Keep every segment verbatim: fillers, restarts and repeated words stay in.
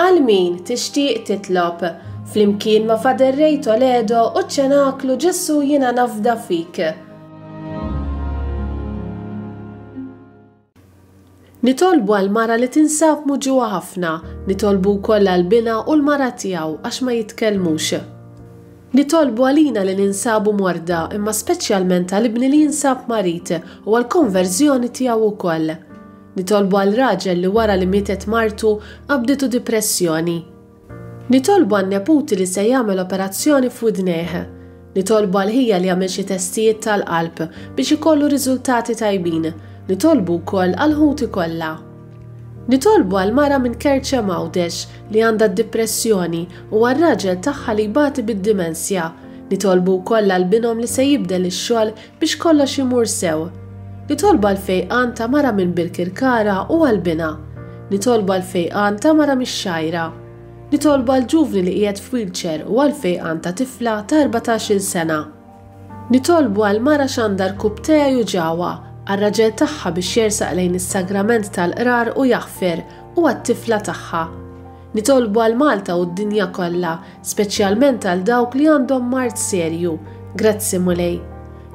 Għal min tixtieq titlob, flimkien ma' Father Ray Toledo u ċ-Ċenaklu Ġesù Jiena Nafda Fik. Nitolbu għal mara li tinsab muġugħa ħafna, nitolbu wkoll għal binha u l-mara tiegħu għax ma jitkellmux. Nitolbu għalina li ninsabu morda, imma speċjalment għal ibni li jinsab marid u għal konverżjoni tiegħu wkoll. Nitolbu għal raġel li wara li mietet martu qabditu depressjoni. Nitolbu għan neputi li se jagħmel operazzjoni f'widnejh. Nitolbu għal ħija li jagħmel xi testijiet tal-qalb biex ikollu riżultati tajbin. Nitolbu wkoll għal ħuti kollha. Nitolbu għal mara minn Kerċem Għawdex li għandha d-depressjoni u għal raġel tagħha li jbati bid-dimensja. Nitolbu wkoll għal binhom li se jibdel ix-xogħol biex kollox imur sew. Nitolbu għal fejqan ta' mara minn Birkirkara u għal binha. Nitolbu għal fejqan ta' mara mix-Xgħajra. Nitolbu għal ġuvni li qiegħed f'wheelchair u għal fejqan ta' tifla ta' erbatax-il sena. Nitolbu għal mara x'għandha rkubtejha juġawha, għal raġel tagħha biex jersaq lejn is-sagrament tal-qrar u jaħfer u għat-tifla tagħha. Nitolbu għal Malta u d-dinja kollha, speċjalment għal dawk li għandhom mard serju. Grazzi Mulej.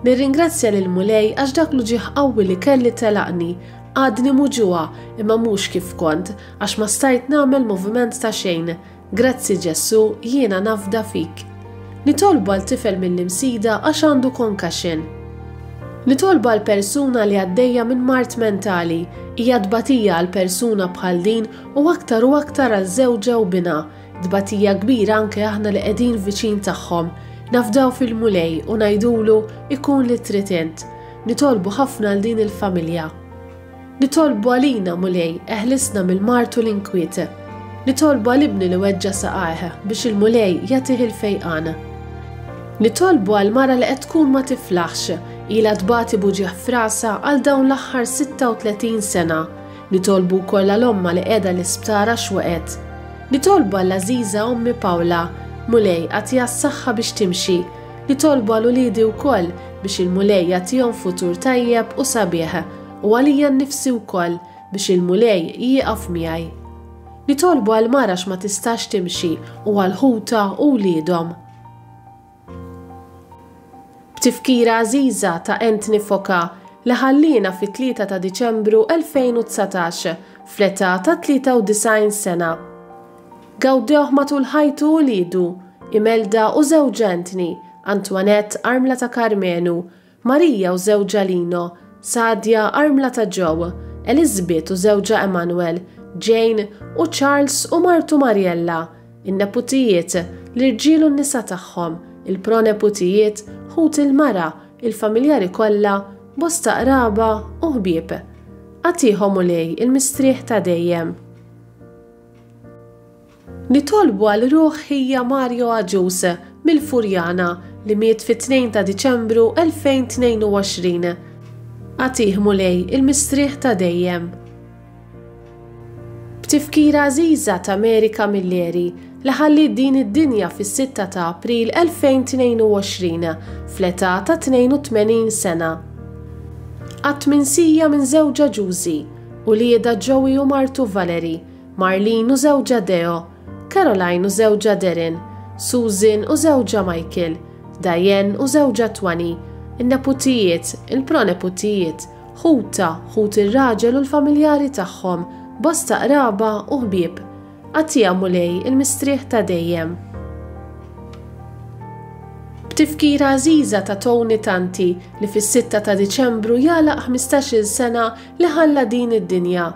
Nirringrazzja lil Mulej għax dak l-uġigħ qawwi li kelli telaqni, għadni muġugħa imma mhux kif kont għax ma stajt nagħmel moviment ta' xejn. Grazzi Ġesù, jiena nafda fik. Nitolbu għal tifel mill-Imsida għax għandu concussion. Nitolbu għal persuna li għaddejja minn mard mentali, hija tbatija għal persuna bħal din u aktar u aktar għal żewġha u binha, tbatija kbira anke aħna li qegħdin viċin tagħhom. Nafdaw fil-Mulej u ngħidulu ikun li trid int. Nitolbu ħafna għal din il-familja. Nitolbu għalina Mulej, eħlisna mill-mard u l-inkwiet. Nitolbu għal ibni li weġġa' saqajh biex il-Mulej jagħtih il-fejqan. Nitolbu għal mara li qed tkun ma tiflaħx, ilha tbati b'uġigħ f'rasha għal dawn l-aħħar sitta u tletin sena. Nitolbu wkoll għal omma li qiegħda l-isptar għax waqgħet. Nitolbu għall għażiża ommi Pawla, Mulej agħtiha s-saħħa biex timxi. Nitolbu għal uliedi wkoll biex il-Mulej jagħtihom futur tajjeb u sabiħ, u għalija nnifsi wkoll biex il-Mulej jieqaf miegħi. Nitolbu għal mara ma tistax timxi u għal ħuta u wliedhom. B'tifkira għażiża ta' Anthony Foka li ħallina fit-tlieta ta' Diċembru elfejn u dsatax fl-età ta' tlieta u disgħin sena. Gawdewh matul ħajtu u wliedu, Imelda u żewġha Anthony, Antoinette armla ta' Karmenu, Marija u żewġha Lino, Sadia armla ta' Joe, Elizabeth u żewġha Emanuel, Jane u Charles u martu Mariella, in-neputijiet, l-irġiel u n-nisa tagħhom, il-proneputijiet, ħut il-mara, il-familjari kollha, bosta qraba u ħbieb. Agħtihom Mulej il-mistrieħ ta' dejjem. Nitolbu għal ruħ ħija Mario Agius mill-Furjana li miet fit-tnejn ta' Diċembru elfejn tnejn u għoxrin. Agħtih Mulej il-mistrieħ ta' dejjem. B'tifkira għażiża ta' Mary Camilleri li ħalliet din id-dinja fis-sitta ta' April elfejn tnejn u għoxrin fl-età ta' tnejn u tmenin sena. Qatt minsija minn żewġha Ġużi, uliedha Joey u martu Valerie, Marlene u żewġha Deo, Caroline u żewġha Darren, Susan u żewġha Michael, Diane u żewġha Twani, in-neputijiet, il-proneputijiet, ħuta, ħut ir-raġel u l-familjari tagħhom, bosta qraba u ħbieb. Agħtiha Mulej il-mistrieħ ta' dejjem. B'tifkira għażiża ta' Tony Tanti li fis-sitta ta' Diċembru jagħlaq ħmistax-il sena li ħalla din id-dinja,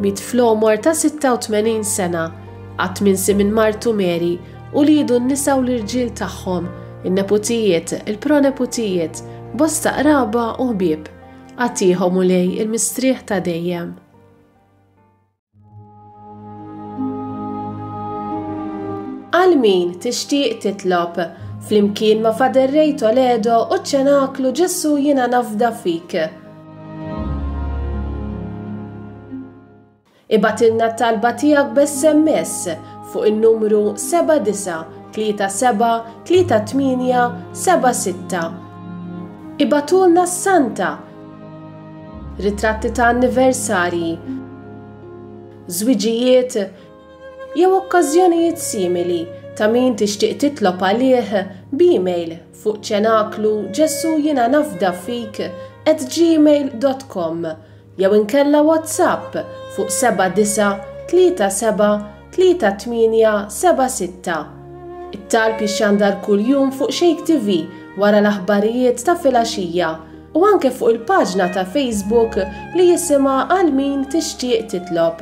miet fl-għomor ta' sitta u tmenin sena, qatt minsi minn martu Mary u liedu n-nisa u l-irġiel tagħhom, in-neputijiet, il-proneputijiet, bosta qraba u ħbieb. Agħtihom Mulej il-mistrieħ ta' dejjem. Għal min tixtieq titlob, flimkien ma' Father Ray Toledo u ċ-Ċenaklu Ġesù Jiena Nafda Fik. Ibgħatilna t-talba tiegħek b'S M S fuq in-numru seba' disa' tlieta seba' tlieta tmienja seba' sitta. Ibgħatulna s-Santa, ritratti ta' anniversarji, żwiġijiet jew okkażjonijiet simili ta' min tixtieq titlob għalih b'email fuq ċenaklu Ġesu jiena nafda fik at gmail dot com jew inkella WhatsApp fuq seba' disa' tlieta seba' tlieta tmienja seba' sitta. It-talb jixxandar kuljum fuq Shake T V wara l-aħbarijiet ta' filgħaxija u anke fuq il-paġna ta' Facebook li jisimha Għal Min Tixtieq Titlob.